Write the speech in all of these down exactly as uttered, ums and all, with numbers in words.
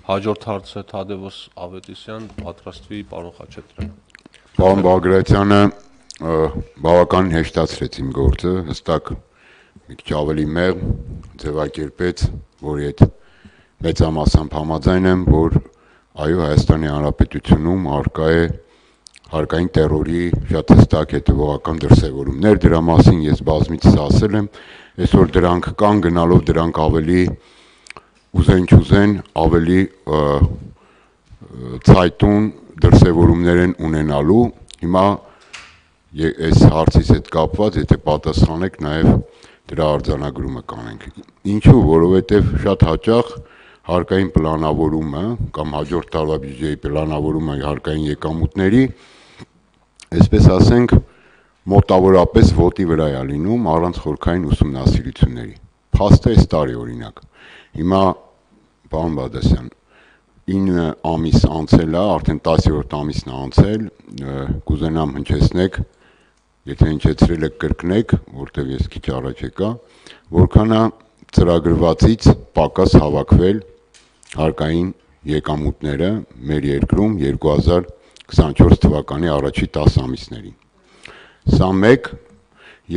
Հաջորդ հարցը Թադևոս Ավետիսյան, պատրաստվի պարոն Խաչատրյան։ Պարոն Բագրատյանը բավականին հեշտացրեց իմ գործը, հստակ մի քիչ ավելի մեղմ ձևակերպեց, որի հետ մեծամասամբ համաձայն եմ, որ այո, Հայաստանի Հանրապետությունում առկա է հարկային տերորի շատ հստակ հետևողական դրսևորումներ, դրա մասին ես բազմիցս ասել եմ, այսօր դրանք կան, գնալով դրանք ավելի ուզեն չուզեն, ավելի ցայտուն դրսևորումներ են ունենալու, հիմա այս հարցից հետ կապված, եթե պատասխանեք, նաև դրա արձանագրումը կանենք։ Ինչու, որովհետև շատ հաճախ հարկային պլանավորումը կամ հաջորդ տարվա բյուջեի պլանավորումը հարկային եկամուտների, այսպես ասենք, մոտավորապես ոտի վրա է լինում առանց խորքային ուսումնասիրությունների։ Փաստը այս տարի օրինակ։ Հիմա պարոն Բադասյան, ինը ամիս անցել է, արդեն տասերորդ ամիսն է անցել, կուզենամ հնչեցնեք, եթե հնչեցրել եք կրկնեք, որտեղ ես քիչ առաջ եկա, որքան է ծրագրվածից պակաս հավաքվել հարկային եկամուտները մեր երկրում երկու հազար քսանչորս թվականի առաջի տասը ամիսներին։ Սա մեկ,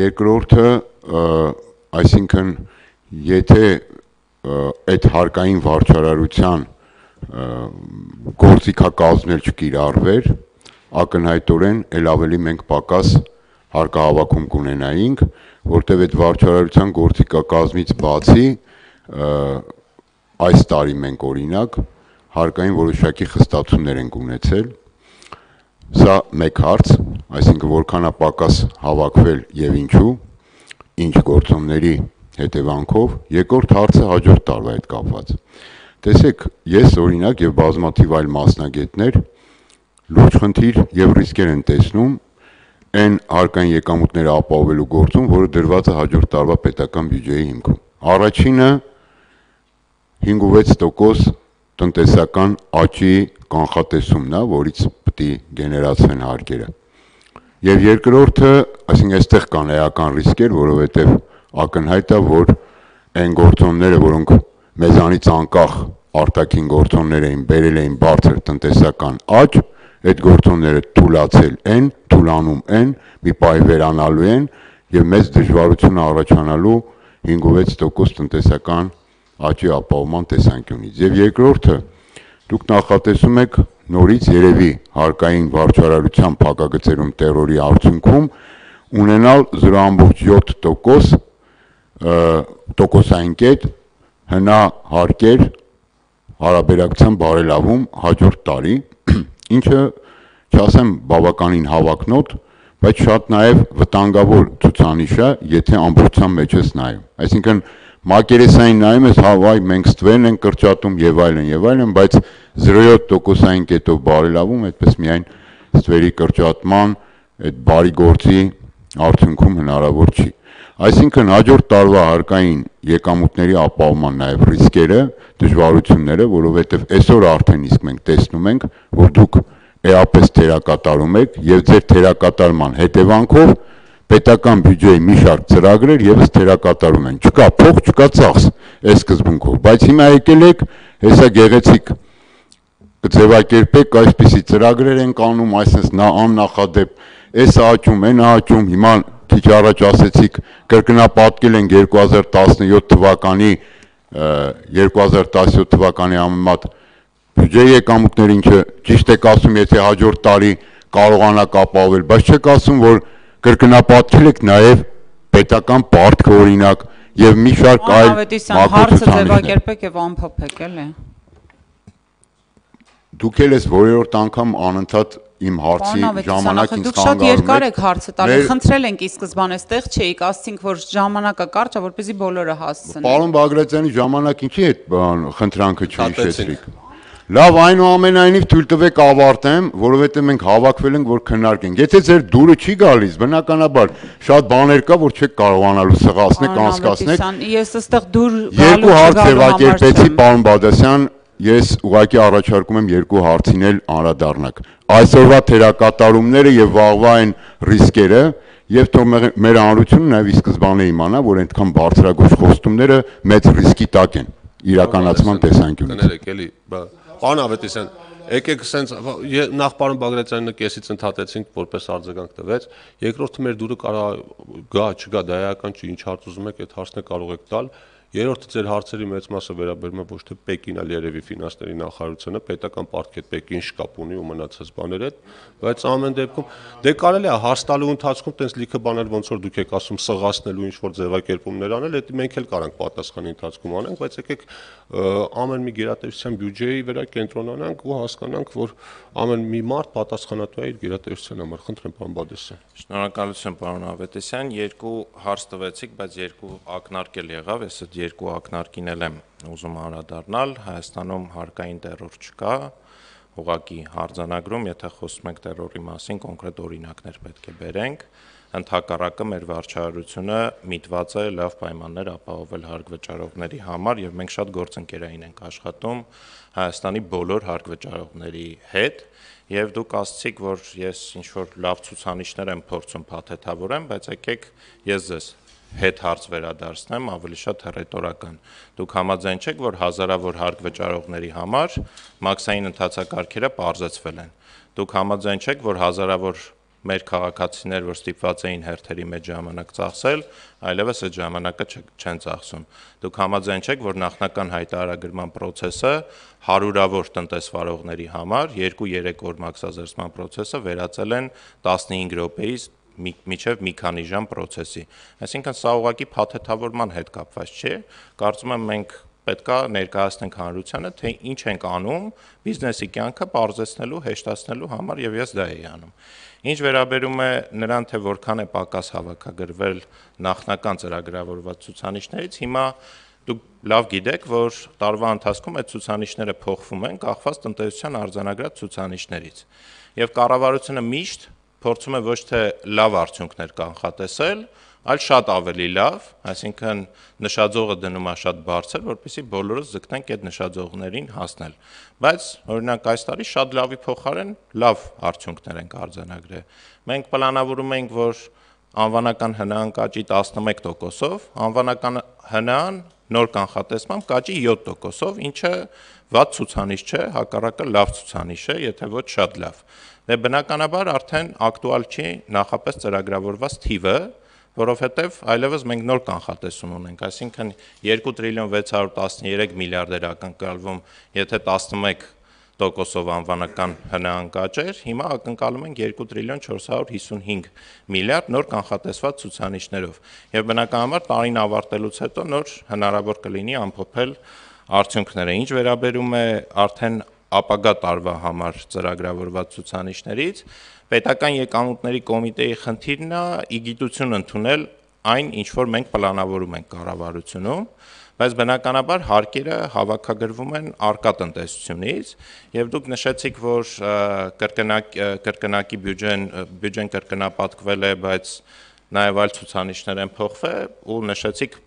երկրորդը, այսինքն, եթե այդ հարկային վարչարարության գործիքակազմն չկիրառվեր, ակնհայտորեն էլ ավելի մենք պակաս հարկահավաքում կունենայինք, որտեղ այդ վարչարարության գործիքակազմից բացի այս տարի մենք օրինակ հարկային որոշակի խստացումներ ենք ունեցել, սա մեկ հարց, այսինքն որքան է պակաս հավաքվել եւ ինչու, ինչ գործոնների հետևանքով, երկրորդ հարցը հաջորդ տարվա հետ կապված։ Տեսեք, ես օրինակ եւ բազմաթիվ այլ մասնագետներ լուրջ խնդիր եւ ռիսկեր են տեսնում այն հարկային եկամուտները ապահովելու գործում, որը դրված է հաջորդ տարվա պետական բյուջեի հիմքում։ Առաջինը հինգ ու վեց տոկոս տնտեսական աճի կանխատեսումն է, որից պետք է գեներացվեն հարկերը։ Եվ երկրորդը, այսինքն այստեղ կան էական ռիսկեր, որովհետև ակնհայտ է, որ այն գործոնները, որոնք մեզանից անկախ արտաքին գործոններ էին, բերել էին բարձր տնտեսական աճ, այդ գործոնները թուլացել են, թուլանում են, մի պահի վերանալու են եւ մեծ դժվարություն առաջանալու հինգ ու վեց տոկոս տնտեսական աճի ապահովման տեսանկյունից։ Եվ երկրորդը, դուք նախատեսում եք նորից երևի հարկային վարչարարության փակագծերում տերորի արդյունքում ունենալ զրո ամբողջ յոթ տոկոս տոկոսային կետ հնա հարկեր հարաբերակցության բարելավում հաջորդ տարի, ինչը չասեմ բավականին հավակնոտ, բայց շատ նաև վտանգավոր ցուցանիշ է, եթե ամբողջության մեջ ես նայում։ Այսինքն մակերեսային նայում ես, հա վայ, մենք ստվերն ենք կրճատում եւ այլն եւ այլն, բայց զրո յոթ տոկոսային կետով բարելավում, այդպես միայն ստվերի կրճատման այդ բարի գործի արդյունքում հնարավոր չի։ Այսինքն հաջորդ տարվա հարկային եկամուտների ապահովման նաև ռիսկերը, դժվարությունները, որովհետև այսօր արդեն իսկ մենք տեսնում ենք, որ դուք էապես թերակատարում եք եւ ձեր թերակատարման հետևանքով պետական բյուջեի մի շարք ծրագրեր եւս թերակատարում են։ Չկա փող, չկա ծախս այս սկզբունքով, բայց հիմա եկել եք, հեսա գեղեցիկ կձևակերպեք, այսպիսի ծրագրեր են կանում, այսպես նա աննախադեպ, այս աճում, այն աճում, հիմա քիչ առաջ ասեցիք կրկնապատկել են երկու հազար տասնյոթ թվականի երկու հազար տասնյոթ թվականի համեմատ բյուջեի եկամուտներ, ինչը ճիշտ եք ասում, եթե հաջորդ տարի կարողանաք ապահովել, բայց չեք ասում, որ կրկնապատկել եք նաև պետական պարտքը օրինակ եւ մի շարք այլ հարցը ձևակերպեք եւ ամփոփեք, էլի։ Դուք էլ ես որերորդ անգամ անընդհատ իմ հարցի ժամանակ ինձ խանգարում եք։ Դուք շատ երկար եք հարցը տալի, խնդրել ենք ի սկզբանե այդտեղ չէիք, ասցինք, որ ժամանակը կարճ է, որպեսզի բոլորը հասցնեն։ Պարոն Բագրատյանի ժամանակ ինչի այդ խնդրանքը չհիշեցրիք։ Լավ, այնուամենայնիվ թույլ տվեք ավարտեմ, որովհետև մենք հավաքվել ենք, որ քննարկենք։ Եթե ձեր դուրը չի գալիս, բնականաբար շատ բաներ կա, որ չեք կարողանալու սղացնեք, անցկացնեք։ Ես այստեղ դուր Երկու հարց ձևակերպեցի, պարոն Բադասյան, ես ուղղակի առաջարկում եմ երկու հարցին էլ անդրադառնաք։ Այսօրվա թերակատարումները եւ վաղվա այն ռիսկերը եւ թող մեր հանրությունը նաեւ ի սկզբանե իմանա, որ այդքան բարձրագույն խոստումները մեծ ռիսկի տակ են։ իրականացման տեսանկյունից։ Կներեք, էլի, պարոն Ավետիսյան, եկեք սենց նախ պարոն Բագրատյանին կեսից ընդհատեցինք, որպես արձագանք տվեց, երկրորդը մեր դուրը կարող գա, չգա, դա էական չի, ինչ հարց ուզում եք, այդ հարցն է կարող եք տալ։ Երրորդը ձեր հարցերի մեծ մասը վերաբերում է ոչ թե Պեկին, այլ երևի ֆինանսների նախարարությունը, պետական պարտքի հետ Պեկին շկապ ունի ու մնացած բաներ հետ, բայց ամեն դեպքում դե կարելի է հարց տալու ընթացքում տենց լիքը բաներ ոնց որ դուք եք ասում սղացնելու ինչ որ ձևակերպումներ անել, դա մենք էլ կարանք պատասխանի ընթացքում անենք, բայց եկեք ամեն մի գերատեսչության բյուջեի վրա կենտրոնանանք ու հասկանանք, որ ամեն մի մարդ պատասխանատու է իր գերատեսչության համար։ Խնդրեմ, պարոն Բադեսյան։ Շնորհակալություն, պարոն Ավետիսյան, երկու հարց տվեցիք, բայց երկու ակնարկ էլ եղավ, ես այդ երկու ակնարկին էլ եմ ուզում անդրադառնալ։ Հայաստանում հարկային տերոր չկա, ուղղակի հարձանագրում, եթե խոսում ենք տերորի մասին, կոնկրետ օրինակներ պետք է բերենք, ընդհակառակը մեր վարչարությունը միտված է լավ պայմաններ ապահովել հարկվճարողների համար եւ մենք շատ գործընկերային ենք աշխատում Հայաստանի բոլոր հարկվճարողների հետ եւ դուք ասացիք, որ ես ինչ որ լավ ցուցանիշներ եմ փորձում փաթեթավորեմ, բայց եկեք ես ձեզ հետ հարց վերադարձնեմ, ավելի շատ հռետորական։ Դուք համաձայն չեք, որ հազարավոր հարկվճարողների համար մաքսային ընթացակարգերը պարզեցվել են։ Դուք համաձայն չեք, որ հազարավոր մեր քաղաքացիներ, որ ստիպված էին հերթերի մեջ ժամանակ ծախսել, այլևս այդ ժամանակը չեն ծախսում։ Դուք համաձայն չեք, որ նախնական հայտարարագրման process-ը հարյուրավոր տնտեսվարողների համար երկու-երեք օր մաքսազերծման process-ը վերածել են տասնհինգ րոպեից միջև մի քանի ժամ process-ի։ Այսինքն սա ուղղակի փաթեթավորման հետ կապված չէ, կարծում եմ մենք պետք է ներկայացնենք հանրությանը, թե ինչ ենք անում բիզնեսի կյանքը պարզեցնելու, հեշտացնելու համար եւ ես դա էի անում։ Ինչ վերաբերում է նրան, թե որքան է պակաս հավաքագրվել նախնական ծրագրավորված ցուցանիշներից, հիմա դուք լավ գիտեք, որ տարվա ընթացքում այդ ցուցանիշները փոխվում են, կախված տնտեսության արձանագրած ցուցանիշներից։ Եվ կառավարությունը միշտ փորձում է ոչ թե լավ արդյունքներ կանխատեսել, այլ շատ ավելի լավ, այսինքն նշաձողը դնում է շատ բարձր, որպեսզի բոլորս ձգտենք այդ նշաձողներին հասնել։ Բայց օրինակ այս տարի շատ լավի փոխարեն լավ արդյունքներ ենք արձանագրել։ Մենք պլանավորում ենք, որ անվանական ՀՆԱ-ն կաճի տասնմեկ տոկոսով, անվանական ՀՆԱ-ն նոր կանխատեսմամբ կաճի յոթ տոկոսով, ինչը վատ ցուցանիշ չէ, հակառակը լավ ցուցանիշ է, եթե ոչ շատ լավ։ Դե բնականաբար արդեն ակտուալ չի նախապես ծրագրավորված թիվը, որովհետև այլևս մենք նոր կանխատեսում ունենք, այսինքն երկու տրիլիոն վեց հարյուր տասներեք միլիարդ էր ակնկալվում, եթե տասնմեկ տոկոսով անվանական ՀՆԱ-ն կաճեր, հիմա ակնկալում ենք երկու տրիլիոն չորս հարյուր հիսունհինգ միլիարդ նոր կանխատեսված ցուցանիշներով։ Եվ բնականաբար տարին ավարտելուց հետո նոր հնարավոր կլինի ամփոփել արդյունքները։ Ինչ վերաբերում է արդեն ապագա տարվա համար ծրագրավորված ցուցանիշներից, պետական եկամուտների կոմիտեի խնդիրն է իգիտություն ընդունել այն, ինչ որ մենք պլանավորում ենք կառավարությունում, բայց բնականաբար հարկերը հավաքագրվում են առկա տնտեսությունից եւ դուք նշեցիք, որ կրկնակ կրկնակի բյուջեն բյուջեն կրկնապատկվել է, բայց նաեւ այլ ցուցանիշներ են փոխվել ու նշեցիք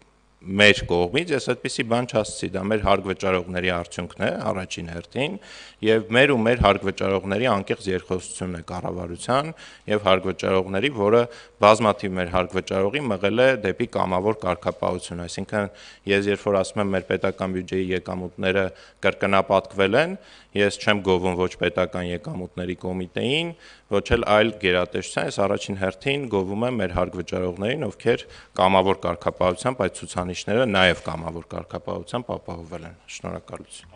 մեր կողմից, ես այդպիսի բան չասացի, դա մեր հարկվճարողների արդյունքն է առաջին հերթին եւ մեր ու մեր հարկվճարողների անկեղծ երկխոսությունն է կառավարության եւ հարկվճարողների, որը բազմաթիվ մեր հարկվճարողի մղել է դեպի կամավոր կարգապահություն, այսինքն ես երբ որ ասում եմ մեր պետական բյուջեի եկամուտները կրկնապատկվել են, ես չեմ գովում ոչ պետական եկամուտների կոմիտեին, ոչ էլ այլ գերատեսչության, ես առաջին հերթին գովում եմ մեր հարկվճարողներին, ովքեր կամավոր կարգապահությամբ այդ ցուցանիշները նաև կամավոր կարգապահությամբ ապահովել են։ Շնորհակալություն։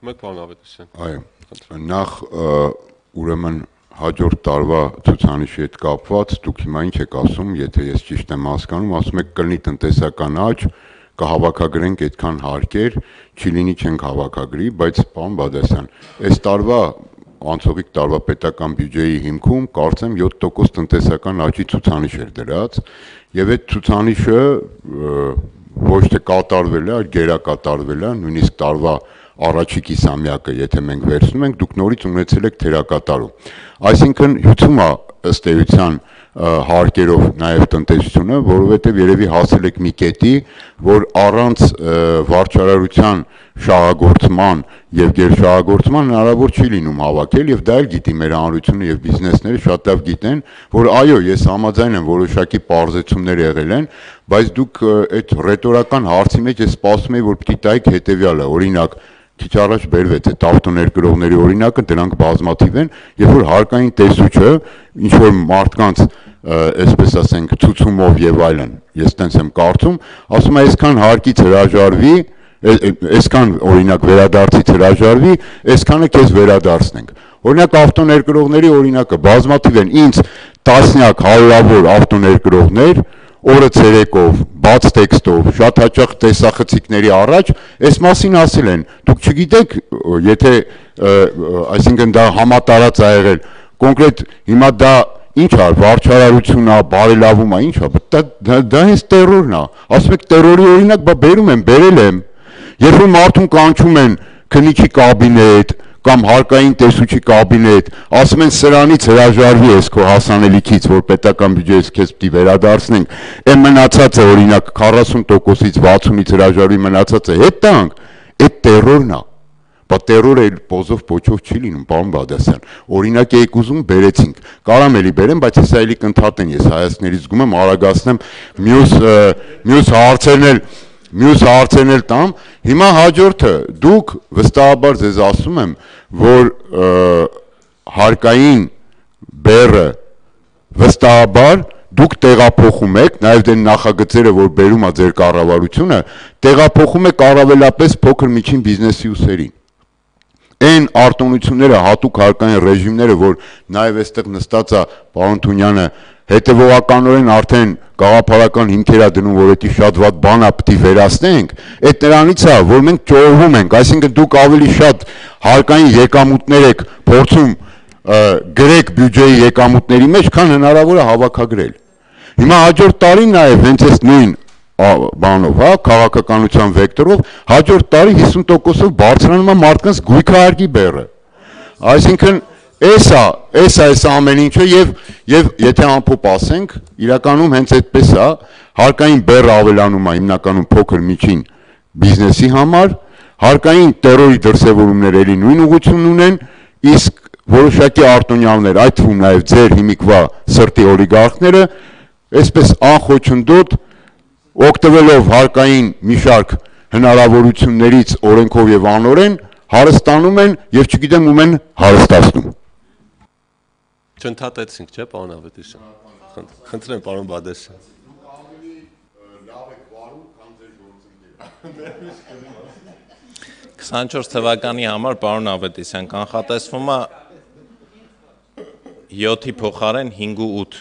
Մեկ բան Ավետիսյան։ Այո, նախ ուրեմն հաջորդ տարվա ցուցանիշի հետ կապված դուք հիմա ինչ եք ասում, եթե ես ճիշտ եմ հասկանում, ասում եք կլինի տնտեսական աճ, կհավաքագրենք այդքան հարկեր, չի լինի չենք հավաքագրի, բայց պարոն Բադասյան, այս տարվա անցողիկ տարվա պետական բյուջեի հիմքում կարծեմ յոթ տոկոս տնտեսական աճի ցուցանիշ էր դրած, եւ այդ ցուցանիշը ոչ թե կատարվել է, այլ գերակատարվել է, նույնիսկ տարվա առաջի կիսամյակը, եթե մենք վերցնում ենք, դուք նորից ունեցել եք թերակատարում։ Այսինքն հյուսում է ըստ էության հարկերով նաև տնտեսությունը, որովհետև երևի հասել եք մի կետի, որ առանց վարչարարության շահագործման եւ գերշահագործման հնարավոր չի լինում հավաքել եւ դա էլ գիտի մեր հանրությունը եւ բիզնեսները շատ լավ գիտեն, որ այո, ես համաձայն եմ որոշակի պարզեցումներ եղել են, բայց դուք այդ ռետորական հարցի մեջ ես սպասում եի, որ պիտի տայք հետեւյալը, օրինակ քիչ առաջ բերվեց այդ ավտոներկրողների օրինակը, դրանք բազմաթիվ են, երբ որ հարկային տեսուչը ինչ որ մարդկանց այսպես ասենք ցուցումով եւ այլն, ես տենց եմ կարծում, ասում է այսքան հարկից հրաժարվի, այսքան օրինակ վերադարձից հրաժարվի, այսքանը քեզ վերադարձնենք։ Օրինակ ավտոներկրողների օրինակը բազմաթիվ են, ինձ տասնյակ հարյուրավոր ավտոներկրողներ օրը ցերեկով, բաց տեքստով, շատ հաճախ տեսախցիկների առաջ այս մասին ասել են, դուք չգիտեք, եթե այսինքն դա համատարած ա եղել, կոնկրետ հիմա դա ինչ է, վարչարարություն է, բարելավում է, ինչ է, դա դա հենց տերորն է, ասում եք տերորի օրինակ, բա բերում եմ, բերել եմ, երբ որ մարդուն կանչում են քննիչի կաբինետ կամ հարկային տեսուչի կաբինետ, ասում են սրանից հրաժարվի ես քո հասանելիքից, որ պետական բյուջեից քեզ պիտի վերադարձնենք, այն մնացածը օրինակ քառասուն տոկոսից վաթսունից հրաժարվի մնացածը հետ տանք, այդ տերորն է։ Բա տերորը էլ պոզով փոչով չի լինում, պարոն Բադասյան։ Օրինակ եք ուզում բերեցինք։ Կարամ էլի բերեմ, բայց ես այլի կընդհատեն, ես հայացքներից զգում եմ, արագացնեմ մյուս մյուս հարցերն էլ Մյուս հարցերն էլ տամ, հիմա հաջորդը, դուք վստահաբար ձեզ ասում եմ, որ հարկային բեռը վստահաբար դուք տեղափոխում եք, նաև դեն նախագծերը, որ բերում է ձեր կառավարությունը, տեղափոխում եք առավելապես փոքր միջին բիզնեսի ուսերին։ Այն արտոնությունները, հատուկ հարկային ռեժիմները, որ նաև այստեղ նստած է պարոն Թունյանը, հետևողականորեն արդեն գաղափարական հիմքեր է դնում, որ դա շատ վատ բան է, պիտի վերացնենք, այդ նրանից է, որ մենք ճողվում ենք, այսինքն դուք ավելի շատ հարկային եկամուտներ եք փորձում գրեք բյուջեի եկամուտների մեջ, քան հնարավոր է հավաքագրել։ Հիմա հաջորդ տարի նաև հենց այս նույն բանով, հա, քաղաքականության վեկտորով, հաջորդ տարի հիսուն տոկոսով բարձրանում է մարդկանց գույքահարկի բեռը։ Այսինքն Էսա, էսա էս ամեն ինչը եւ եւ եթե ամփոփ ասենք, իրականում հենց այդպես է, հարկային բեռը ավելանում է հիմնականում փոքր միջին բիզնեսի համար, հարկային տերորի դրսևորումները էլի նույն ուղղությունն ունեն, իսկ որոշակի արտոնյալներ, այդ թվում նաեւ ձեր հիմիկվա սրտի օլիգարխները, այսպես անխոչնդոտ օգտվելով հարկային մի շարք հնարավորություններից օրենքով եւ անօրեն հարստանում են եւ չգիտեմ ում են հարստացնում։ Չընդհատեցինք, չէ՞, պարոն Ավետիսյան։ Խնդրեմ, պարոն Բադասյան։ քսանչորս թվականի համար պարոն Ավետիսյան կանխատեսվում է յոթի փոխարեն հինգ ու ութ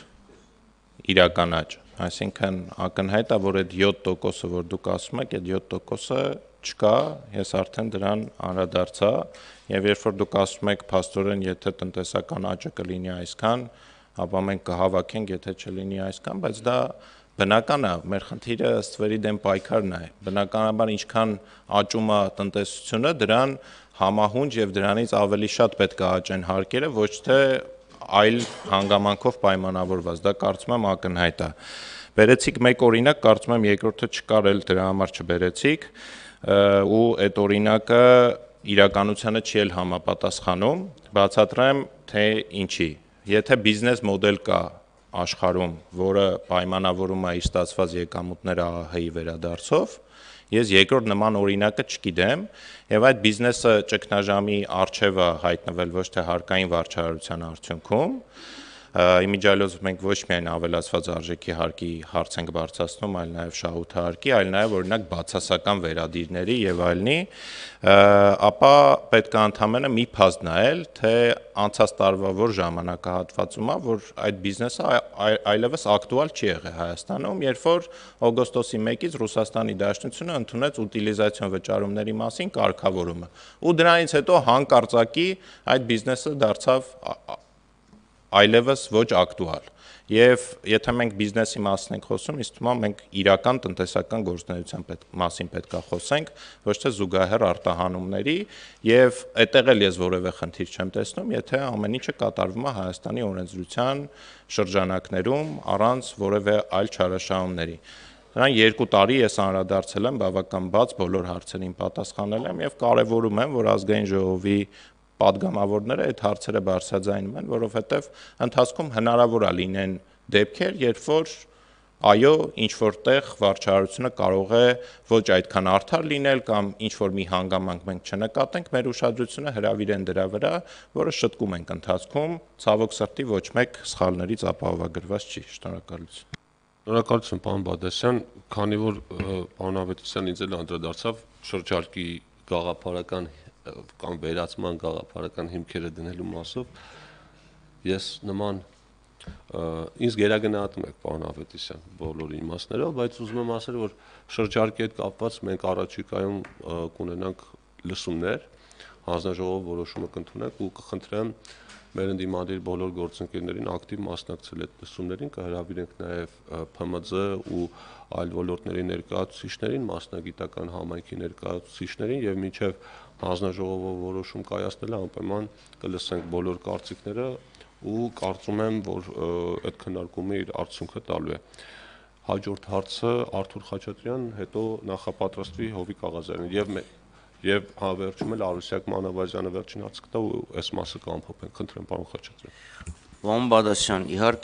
իրական աճ, այսինքն ակնհայտ է, որ այդ յոթ տոկոսը, որ դուք ասում եք, այդ յոթ տոկոսը չկա, ես արդեն դրան անդրադարձա, եւ երբ որ դուք ասում եք փաստորեն, եթե տնտեսական աճը կլինի այսքան, ապա մենք կհավաքենք, եթե չլինի այսքան, բայց դա բնական է, մեր խնդիրը ըստ վերի դեմ պայքարն է, բնականաբար ինչքան աճում է տնտեսությունը, դրան համահունչ եւ դրանից ավելի շատ պետք է աճեն հարկերը, ոչ թե այլ հանգամանքով պայմանավորված, դա կարծում եմ ակնհայտ է։ Բերեցիք մեկ օրինակ, կարծում եմ երկրորդը չկար էլ դրա համար չբերեցիք, ու այդ օրինակը իրականությանը չի էլ համապատասխանում, բացատրեմ, թե ինչի։ Եթե բիզնես մոդել կա աշխարհում, որը պայմանավորում է իր ստացված եկամուտները ԱԱՀ-ի վերադարձով, ես երկրորդ նման օրինակը չգիտեմ, եւ այդ բիզնեսը ճգնաժամի առջև է հայտնվել ոչ թե հարկային վարչարարության արդյունքում, իմիջիալոց մենք ոչ միայն ավելացված արժեքի հարկի հարց ենք բարձրացնում, այլ նաև շահութահարկի, այլ նաև օրինակ բացասական վերադիրների եւ այլնի, ապա պետք է ընդամենը մի փաստ նայել, թե անցած տարվա որ ժամանակահատվածում է, որ այդ բիզնեսը այլևս ակտուալ չի եղել Հայաստանում, երբ որ օգոստոսի մեկից Ռուսաստանի Դաշնությունը ընդունեց ուտիլիզացիոն վճարումների մասին կարգավորումը, ու դրանից հետո հանկարծակի այդ բիզնեսը դարձավ այլևս ոչ ակտուալ։ Եվ եթե մենք բիզնեսի մասին ենք խոսում, ինձ թվում է մենք իրական տնտեսական գործունեության պետք, մասին պետք է խոսենք, ոչ թե զուգահեռ արտահանումների, եւ այդտեղ էլ ես որևէ խնդիր չեմ տեսնում, եթե ամեն ինչը կատարվում է Հայաստանի օրենսդրության շրջանակներում առանց որևէ այլ չարաշահումների։ Նրան երկու տարի ես անդրադարձել եմ բավական բաց բոլոր հարցերին պատասխանել եմ եւ կարեւորում եմ, որ ազգային ժողովի պատգամավորները այդ հարցերը բարձրաձայնում են, որովհետեւ ընթացքում հնարավոր է լինեն դեպքեր, երբ որ այո, ինչ որտեղ վարչարությունը կարող է ոչ այդքան արդար լինել կամ ինչ որ մի հանգամանք մենք չնկատենք, մեր ուշադրությունը հրավիրեն դրա վրա, որը շտկում ենք ընթացքում, ցավոք սրտի ոչ մեկ սխալներից ապահովագրված չի։ Շնորհակալություն։ Շնորհակալություն, պարոն Բադասյան, քանի որ պարոն Ավետիսյանն ինձ էլ անդրադարձավ շրջարկի գաղափարական կամ վերացման գաղափարական հիմքերը դնելու մասով, ես նման ինձ գերագնահատում եք պարոն Ավետիսյան բոլոր իմաստներով, բայց ուզում եմ ասել, որ շրջարկի հետ կապված մենք առաջիկայում կունենանք լսումներ, հանձնաժողով որոշումը կընդունենք ու կխնդրեմ մեր ընդդիմադիր բոլոր գործընկերներին ակտիվ մասնակցել այդ լսումներին, կհրավիրենք նաև Փ M Ծ ու այլ ոլորտների ներկայացուցիչներին, մասնագիտական համայնքի ներկայացուցիչներին եւ մինչեւ հանձնաժողովը որոշում կայացնելը անպայման կլսենք բոլոր կարծիքները ու կարծում եմ, որ այդ քննարկումը իր արդյունքը տալու է։ Հաջորդ հարցը Արթուր Խաչատրյան, հետո նախապատրաստվի Հովիկ Աղազարյան եւ եւ հավերժում էլ Արուսյակ Մանավազյանը վերջին հարցը կտա ու այս մասը կամփոփենք։ Խնդրեմ, պարոն Խաչատրյան։ Պարոն Բադասյան, իհարկե